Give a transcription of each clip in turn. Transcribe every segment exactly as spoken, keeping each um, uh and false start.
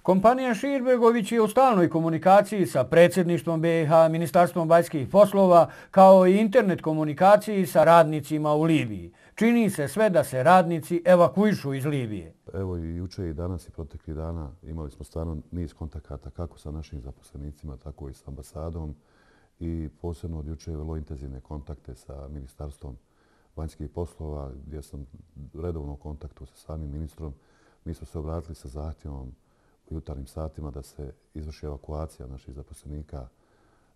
Kompanija Širbegović je u stalnoj komunikaciji sa predsjedništvom B i H, Ministarstvom vanjskih poslova, kao i internet komunikaciji sa radnicima u Libiji. Čini se sve da se radnici evakuišu iz Libije. Evo i juče i danas i proteklih dana imali smo stvarno niz kontakata kako sa našim zaposlenicima, tako i sa ambasadom i posebno od juče vrlo intenzivne kontakte sa Ministarstvom vanjskih poslova gdje sam redovno u kontaktu sa samim ministrom. Mi smo se obratili sa zahtjevom u jutarnjim satima da se izvrši evakuacija naših zaposlenika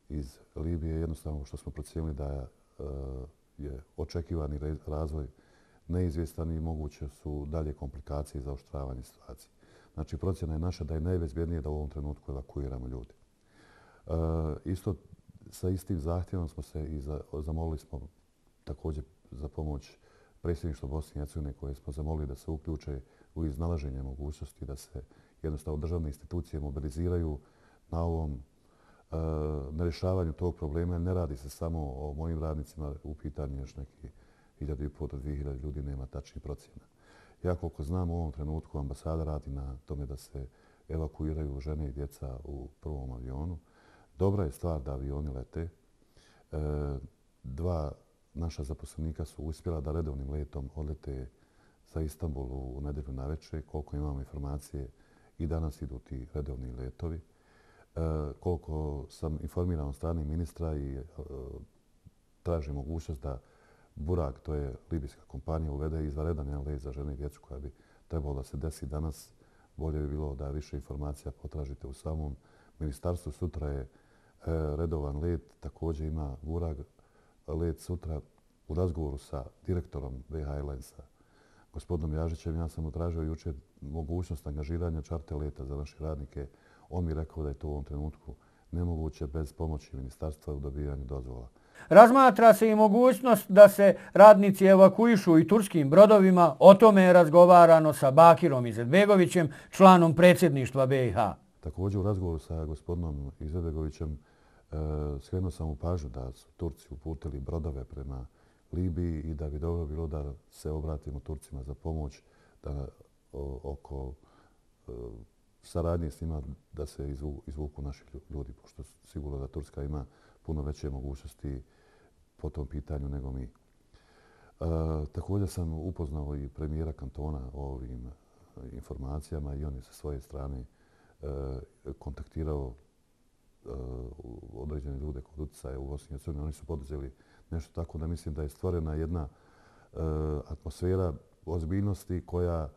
iz Libije. Jednostavno što smo procijenili da je očekivani razvoj neizvjestan i moguće su dalje komplikacije i zaoštravanje situacije. Znači, procjena je naša da je najbezbjednije da u ovom trenutku evakuiramo ljudi. Isto sa istim zahtjevom smo se i zamolili smo također za pomoć predsjedništva Bosne i Hercegovine koje smo zamolili da se uključe u iznalaženje mogućnosti da se jednostavno državne institucije mobiliziraju na ovom na rješavanju tog problema. Ne radi se samo o mojim radnicima, u pitanju još neki hiljadu i pol do dvije hiljade ljudi, nema tačnih procjena. Ja koliko znam u ovom trenutku ambasada radi na tome da se evakuiraju žene i djeca u prvom avionu. Dobra je stvar da avioni lete. Dva naša zaposlenika su uspjela da redovnim letom odlete za Istanbul u nedjelju navečer. Koliko imamo informacije, i danas idu ti redovni letovi. Koliko sam informiran od strane ministra i traži mogućnost da Burak, to je libijska kompanija, uvede izvanredan jedan let za žene i djecu koja bi trebalo da se desi danas. Bolje bi bilo da više informacija potražite u samom ministarstvu. Sutra je redovan let, također ima Burak let sutra. U razgovoru sa direktorom B H Airlinesa, gospodinom Jažićem, ja sam mu tražio jučer mogućnost angažiranja čarter leta za naše radnike. On mi rekao da je to u ovom trenutku nemoguće bez pomoći ministarstva u dobijanju dozvola. Razmatra se i mogućnost da se radnici evakuišu i turskim brodovima. O tome je razgovarano sa Bakirom Izetbegovićem, članom predsjedništva B i H. Također u razgovoru sa gospodinom Izetbegovićem skrenuo sam u pažnju da su Turci uputili brodove prema Libiji i da bi dobro bilo da se obratimo Turcima za pomoć da oko saradnje s njima da se izvuku naši ljudi, pošto sigurno da Turska ima puno veće mogućnosti po tom pitanju nego mi. Također sam upoznao i premijera kantona o ovim informacijama i on je sa svoje strane kontaktirao određene ljude kod utjecaja u Bosni i Hercegovini. Oni su poduzeli nešto tako da mislim da je stvorena jedna atmosfera ozbiljnosti koja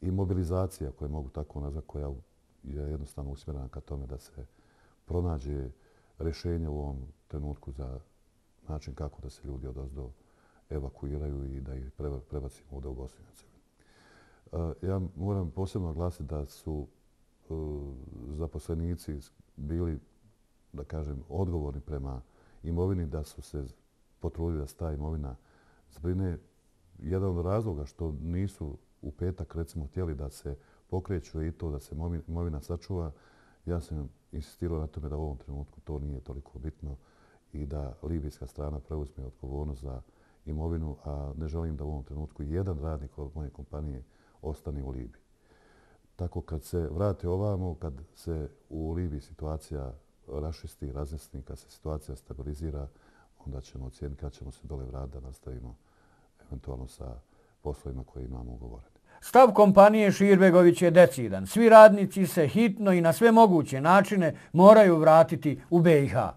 i mobilizacija, koje mogu tako nazvati, koja je jednostavno usmjerena ka tome da se pronađe rješenje u ovom trenutku za način kako da se ljudi odozdo evakuiraju i da ih prebacimo ovdje u Bosnu i Hercegovini. Ja moram posebno naglasiti da su zaposlenici bili, da kažem, odgovorni prema imovini, da su se potrudili da se ta imovina zbrine. Jedan od razloga što nisu u petak, recimo, htjeli da se pokreću i to da se imovina sačuva, ja sam insistirao na tome da u ovom trenutku to nije toliko bitno i da libijska strana preuzme odgovornost za imovinu, a ne želim da u ovom trenutku jedan radnik od moje kompanije ostane u Libiji. Tako kad se vrate ovamo, kad se u Libiji situacija rašisti, razjasni, kad se situacija stabilizira, onda ćemo ocijeniti kad ćemo se dole vratiti da nastavimo eventualno sa poslovima koje imamo ugovorene. Stav kompanije Širbegović je decidan. Svi radnici se hitno i na sve moguće načine moraju vratiti u B i H.